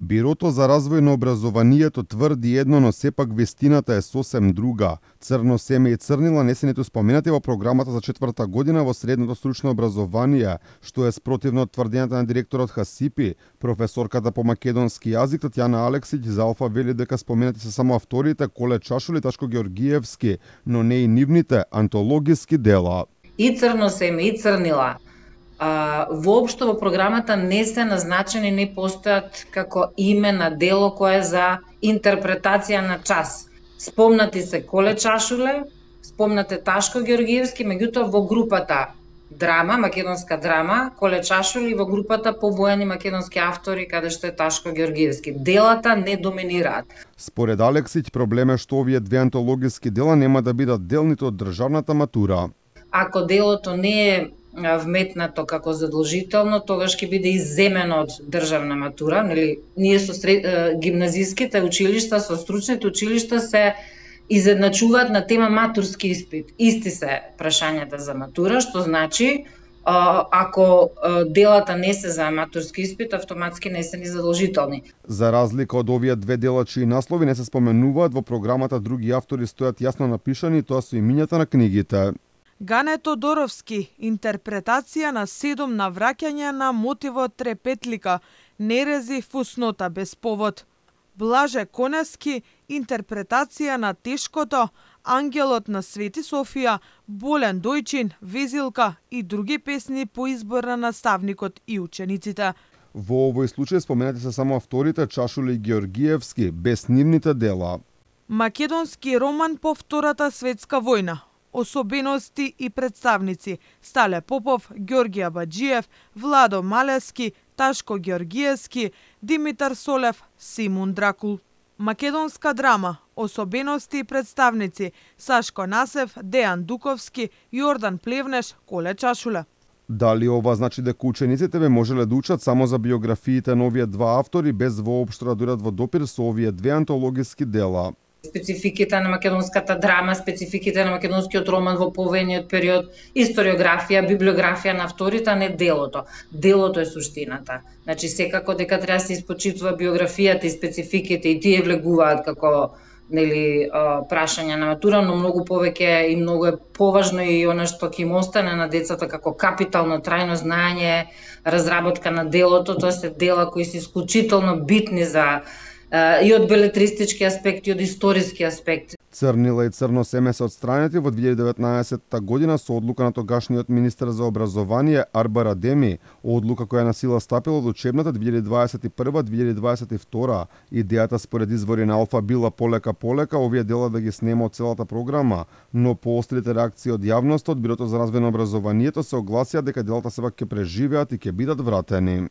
Бирото за развој на образованието тврди едно, но сепак вестината е сосем друга. Црно семе и црнила не се ниту споменати во програмата за четврта година во средното стручно образование, што е спротивно од тврдењата на директорот Хасипи. Професорката по македонски јазик Татјана Алексиќ за Алфа вели дека споменати се само авторите Коле Чашули и Ташко Георгиевски, но не и нивните антологиски дела. И црно семе и црнила воопшто во програмата не се назначени, не постојат како име на дело кое е за интерпретација на час. Спомнати се Коле Чашуле, спомнате Ташко Георгиевски, меѓутоа во групата драма, македонска драма, Коле Чашули, во групата повоени македонски автори, каде што е Ташко Георгиевски. Делата не доминираат. Според Алексиќ, проблем е што овие две антологиски дела нема да бидат дел ниту од државната матура. Ако делото не е вметнато како задолжително, тогаш ќе биде изземено од државна матура. Нели, ние со гимназиските училишта, со стручните училишта се изедначуваат на тема матурски испит. Исти се прашањата за матура, што значи ако делата не се за матурски испит, автоматски не се ни задолжителни. За разлика од овие две дела чии наслови не се споменуваат во програмата, други автори стојат јасно напишани, тоа се имињата на книгите. Гане Тодоровски, интерпретација на 7 навраќања на мотивот Трепетлика, Нерези фуснота без повод. Блаже Конески, интерпретација на Тешкото, Ангелот на Свети Софија, Болен Дојчин, Везилка и други песни по избор на наставникот и учениците. Во овој случај споменати се само авторите Чашули и Георгиевски, без нивните дела. Македонски роман по Втората светска војна. Особености и представници: Стале Попов, Ѓорѓе Абаџиев, Владо Малески, Ташко Георгиевски, Димитар Солев, Симун Дракул. Македонска драма: Особености и представници: Сашко Насев, Дејан Дуковски, Јордан Плевнеш, Коле Чашуле. Дали ова значи дека учениците ве можеле да учат само за биографиите на овие два автори без воопшто да дојдат во допир со овие две антологиски дела? Спецификите на македонската драма, спецификите на македонскиот роман во повојниот период, историографија, библиографија на авторите, а не делото. Делото е суштината. Значи, секако дека треба да се испочитува биографијата и спецификите и тие влегуваат како прашања на матура, но многу повеќе и многу е поважно и она што ќе им остане на децата како капитално трајно знаење, разработка на делото, тоа се дела кои се исклучително битни за и од белетристички аспекти, и од историски аспекти. Црнила и црно семе се отстранети во 2019 година со одлука на тогашниот министер за образование Арбар Адеми, одлука која на сила стапила од учебната 2021-2022. Идејата според извори на Алфа била полека овие дела да ги снема од целата програма, но по острите реакции од јавноста од Бирото за развој на образованието се огласија дека делата сепак ќе преживеат и ќе бидат вратени.